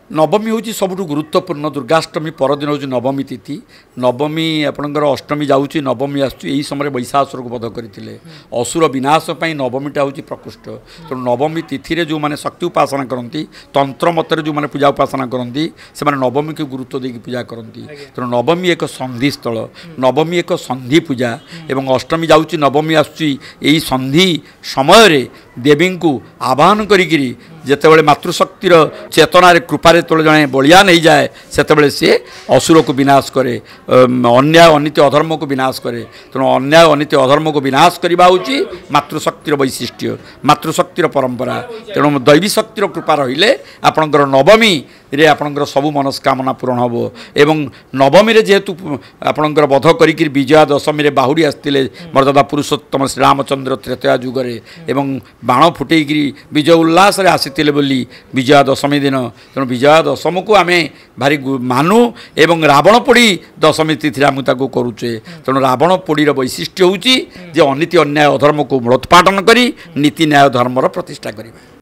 ନବମୀ ହେଉଛି ସବୁଠୁ ଗୁରୁତ୍ୱପୂର୍ଣ୍ଣ। ଦୁର୍ଗାଷ୍ଟମୀ ପରଦିନ ହେଉଛି ନବମୀ ତିଥି। ନବମୀ ଆପଣଙ୍କର ଅଷ୍ଟମୀ ଯାଉଛି, ନବମୀ ଆସୁଛି। ଏହି ସମୟରେ ବୈଶାସୁରକୁ ବଧ କରିଥିଲେ। ଅସୁର ବିନାଶ ପାଇଁ ନବମୀଟା ହେଉଛି ପ୍ରକୃଷ୍ଟ। ତେଣୁ ନବମୀ ତିଥିରେ ଯେଉଁମାନେ ଶକ୍ତି ଉପାସନା କରନ୍ତି, ତନ୍ତ୍ର ମତରେ ଯେଉଁମାନେ ପୂଜା ଉପାସନା କରନ୍ତି, ସେମାନେ ନବମୀକୁ ଗୁରୁତ୍ୱ ଦେଇକି ପୂଜା କରନ୍ତି। ତେଣୁ ନବମୀ ଏକ ସନ୍ଧି ସ୍ଥଳ, ନବମୀ ଏକ ସନ୍ଧି ପୂଜା। ଏବଂ ଅଷ୍ଟମୀ ଯାଉଛି, ନବମୀ ଆସୁଛି, ଏହି ସନ୍ଧି ସମୟରେ ଦେବୀଙ୍କୁ ଆବାହନ କରିକିରି ଯେତେବେଳେ ମାତୃଶକ୍ତିର ଚେତନାରେ କୃପାରେ ଯେତେବେଳେ ଜଣେ ବଳିଆନ ହେଇଯାଏ, ସେତେବେଳେ ସିଏ ଅସୁରକୁ ବିନାଶ କରେ, ଅନ୍ୟାୟ ଅନୀତି ଅଧର୍ମକୁ ବିନାଶ କରେ। ତେଣୁ ଅନ୍ୟାୟ ଅନୀତି ଅଧର୍ମକୁ ବିନାଶ କରିବା ହେଉଛି ମାତୃଶକ୍ତିର ବୈଶିଷ୍ଟ୍ୟ, ମାତୃଶକ୍ତିର ପରମ୍ପରା। ତେଣୁ ଦୈବୀ ଶକ୍ତିର କୃପା ରହିଲେ ଆପଣଙ୍କର ନବମୀରେ ଆପଣଙ୍କର ସବୁ ମନସ୍କାମନା ପୂରଣ ହେବ। ଏବଂ ନବମୀରେ ଯେହେତୁ ଆପଣଙ୍କର ବଧ କରିକିରି ବିଜୟା ଦଶମୀରେ ବାହୁଡ଼ି ଆସିଥିଲେ ମର୍ଯ୍ୟାଦା ପୁରୁଷୋତ୍ତମ ଶ୍ରୀରାମଚନ୍ଦ୍ର ତ୍ରେତୟା ଯୁଗରେ, ଏବଂ ବାଣ ଫୁଟେଇକିରି ବିଜୟ ଉଲ୍ଲାସରେ ଆସିଥିଲେ ବୋଲି ବିଜୟା ଦଶମୀ ଦିନ। ତେଣୁ ବିଜୟା ଦଶମୀକୁ ଆମେ ଭାରି ମାନୁ ଏବଂ ରାବଣ ପୋଡ଼ି ଦଶମୀ ତିଥିରେ ଆମେ ତାକୁ କରୁଛେ। ତେଣୁ ରାବଣ ପୋଡ଼ିର ବୈଶିଷ୍ଟ୍ୟ ହେଉଛି ଯେ ଅନୀତି ଅନ୍ୟାୟ ଅଧର୍ମକୁ ମୂଳୋତ୍ପାଟନ କରି ନୀତି ନ୍ୟାୟ ଧର୍ମର ପ୍ରତିଷ୍ଠା କରିବା।